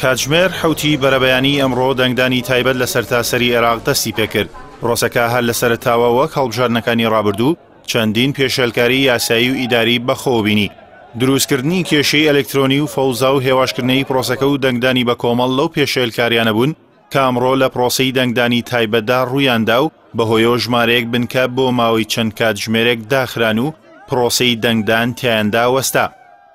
کاتژمێر حەوتی بەرەبەیانی ئەمڕۆ دەنگدانی تایبەت لە سەرتاسەری عێراق دەستی پێکرد. پرۆسەکە هەر لە سەرەتاوە وەک هەڵبژاردنەکانی ڕابردوو چەندین پێشێلکاری یاسایی و ئیداری بەخۆوە بینی. دروستکردنی کێشەی ئەلکترۆنی و فەوزا و هێواشکردنەی پرۆسەکە و دەنگدانی بەکۆمەڵ لەو پێشێلکاریانە بوون کە ئەمڕۆ لە پرۆسەی دەنگدانی تایبەتدا ڕوویاندا و بەهۆیەوە ژمارەیەک بنکە بۆ ماوەی چەند کاتژمێرێک داخران و پرۆسەی دەنگدان تیایاندا وەستا.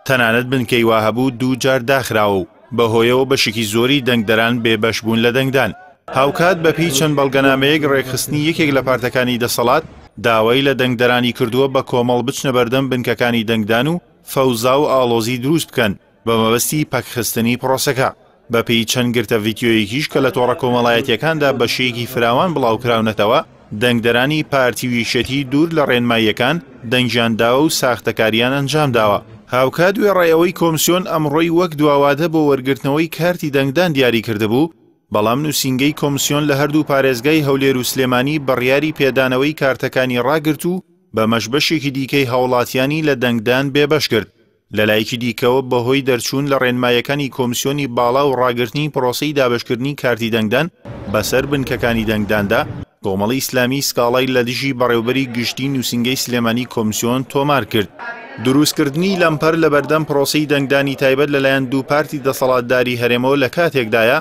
تەنانەت بنکەی وا هەبوو دوو جار داخراوە و بەهۆیەوە بەشێکی زۆری دەنگدەران بێبەش بوون لە دەنگدان. هاوکات بەپێی چەند بەڵگەنامەیەک ڕێکخستنی یەکێک لە پارتەکانی دەسەڵات داوای لە دەنگدەرانی کردووە بە کۆمەڵ بچنە بەردەم بنکەکانی دەنگدان و فەوزا و ئاڵۆزی دروست بکەن بە مەبەستی پەکخستنی پرۆسەکە. بەپێی چەند گرتە ڤیدیۆیەکیش کە لە تۆڕە کۆمەڵایەتییەکاندا بە شێیەکی فراوان بڵاوکراونەتەوە، دەنگدەرانی پارتی و یەکێتی دوور لە ڕێنماییەکان دەنگیان داوە و ساختەکارییان ئەنجامداوە. هاوکات وێڕای ئەوەی کۆمسیۆن ئەمڕۆی وەک دواوادە بۆ وەرگرتنەوەی کارتی دەنگدان دیاریکردبوو، بەڵام نووسینگەی کۆمسیۆن لە هەردوو پارێزگای هەولێر و سلێمانی بڕیاری پێدانەوەی کارتەکانی ڕاگرت و بەمەش بەشێکی دیکەی هاوڵاتیانی لە دەنگدان بێبەش کرد. لەلایەکی دیکەوە بەهۆی دەرچوون لە ڕێنماییەکانی کۆمسیۆنی باڵا و ڕاگرتنی پرۆسەی دابەشکردنی کارتی دەنگدان بەسەر بنکەکانی دەنگداندا، کۆمەڵی ئیسلامی سکاڵای لە دژی بەڕێوبەری گشتی نووسینگەی سلێمانی کۆمسیۆن تۆمار کرد. دروستکردنی لەمپەر لەبەردەم پرۆسەی دەنگدانی تایبەت لەلایەن دوو پارتی دەسەڵاتداری هەرێمەوە لە کاتێکدایە،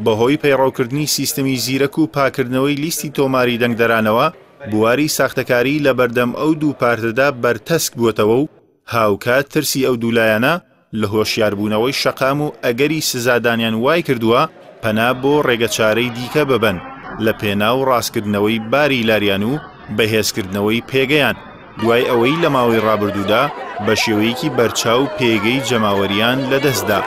بەهۆی پەیڕەوکردنی سیستمی زیرەک و پاکردنەوەی لیستی تۆماری دەنگدەرانەوە، بواری ساختەکاری لەبەردەم ئەو دوو پارتەدا بەرتەسک بووەتەوە و هاوکات ترسی ئەو دوو لایەنە لە هۆشیاربوونەوەی شەقام و ئەگەری سزادانیان وایکردووە پەنا بۆ ڕێگەچارەی دیکە ببەن لە پێناو ڕاستکردنەوەی باری لاریان و بەهێزکردنەوەی پێگەیان دوای ئەوەی لە ماوەی ڕابردوودا بە شێوەیەکی بەرچاو پێگەی جەماوەریان لەدەستدا.